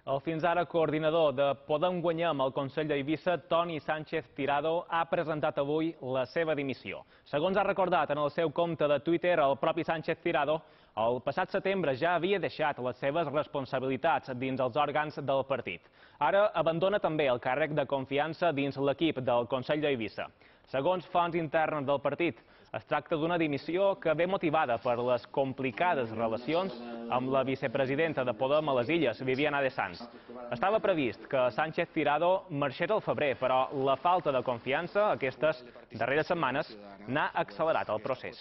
El fins ara coordinador de Podem Guanyem al Consell d'Eivissa, Toni Sánchez Tirado, ha presentat avui la seva dimissió. Segons ha recordat en el seu compte de Twitter, el propi Sánchez Tirado, el passat setembre ja havia deixat les seves responsabilitats dins els òrgans del partit. Ara abandona també el càrrec de confiança dins l'equip del Consell d'Eivissa. Segons fonts internes del partit, es tracta d'una dimissió que ve motivada per les complicades relacions amb la vicepresidenta de Podem a les Illes, Viviana de Sanz. Estava previst que Sánchez Tirado marxés al febrer, però la falta de confiança aquestes darreres setmanes n'ha accelerat el procés.